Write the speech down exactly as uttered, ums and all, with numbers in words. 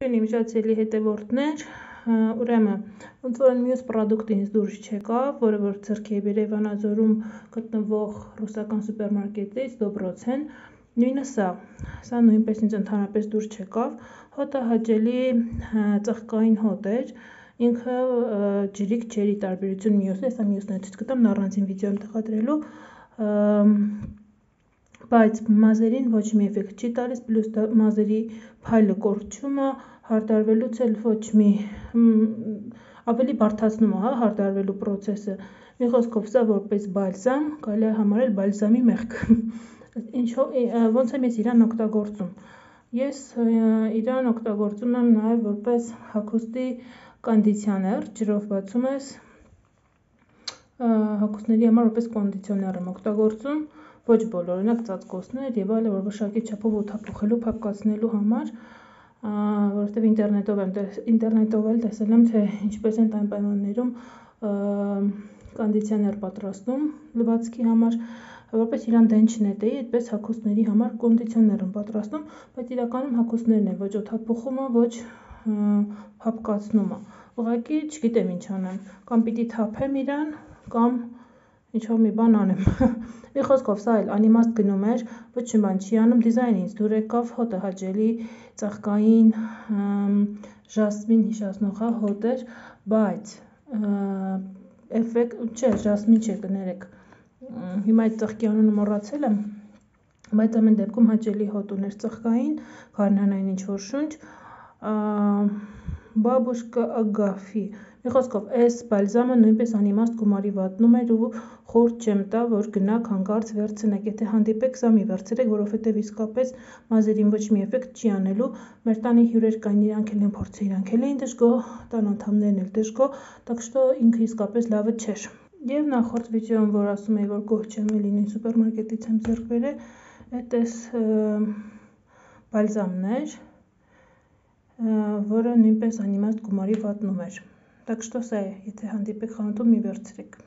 Իմիջացիելի հետևորդներ, ուրեմն, ոնց որ մյուս պրոդուկտը ինձ դուրս չեկավ, որը որ ձեռքի է բերել Վանաձորում գտնվող ռուսական սուպերմարկետից, Դոբրոցեն, նույնը սա, սա նույնպես ինձ ընդհանրապես դուրս չեկավ, հոտը հաճելի ծաղկային հոտ էր, ինքը ջրիկ չէր ի տարբերություն մյուսն, սա մյուսն է ցույց կտամ, առանձին վիդեո եմ տեղադրելու, բայց մազերին ոչ մի էֆեկտ չի տալիս, պլյուս մազերի փայլը կորչումը, հարդարվելուց էլ ոչ մի, ավելի բարդացնում է հարդարվելու պրոցեսը, մի խոսքով սա որպես բալզամ, կարելի է համարել բալզամի մեղք, ոնց եմ ես իրան օգտագործում, ես իրան օգտագործում եմ նաև որպես հագուստի կոնդիցիոներ, ջրով բացում ես, հագուստների համար որպես կոնդիցիոներ եմ օգտագործում, ոչ բոլոր, օրինակ ծածկոցներ և այլը, որ մշակի չափով օդափոխելու, փափկացնելու համար, որովհետև ինտերնետով եմ ինտերնետով էլ տեսել եմ, թե ինչպես են այն պայմաններում կոնդիցիոներ պատրաստում լվացքի համար, որպես իրան դեն չնետեի, այդպես հագուստների համար կոնդիցիոներ եմ պատրաստում, բայց իրականում հագուստներն են, ոչ օդափոխումը, ոչ փափկացնումը, ուղղակի չգիտեմ ինչ անեմ, կամ պիտի թափեմ իրան, կամ ինչ-որ մի բան անեմ, մի խոսքով սա էլ անիմաստ գնում էր, ոչ մի բան չի անում, դիզայնը ինձ դուր եկավ, հոտը հաճելի, ծաղկային, ժասմին հիշեցնող հոտ էր, բայց էֆեկտ, չէ, ժասմին չէ, կներեք, հիմա այդ ծաղկի անունը մոռացել եմ, բայց ամեն դեպքում հաճելի հոտ ուներ ծաղկային, գարնանային ինչ-որ շունչ, բաբուշկա Ագաֆի, մի խոսքով, այս բալզամը նույնպես անիմաստ գումարի վատնում էր ու խորտ չեմ տա, որ գնաք հանկարծ վերցնեք, եթե հանդիպեք, սա մի վերցրեք, որովհետև իսկապես մազերին ոչ մի էֆեկտ չի անելու, մեր տանի հյուրեր կային, իրանք էլ են փորձել, իրանք էլ էին դժգոհ, տան անդամներն էլ դժգոհ, так что ինքը իսկապես լավը չէր։ Եվ նախորդ վիդեոում, որ ասում էի, որ գոհ չեմ էլի նույն սուպերմարկետից եմ ձեռք բերել, այդ էս բալզամն էր, որը նույնպես անիմաստ գումարի վատնում էր, так что սա է, եթե հանդիպեք խանութում մի վերցրեք։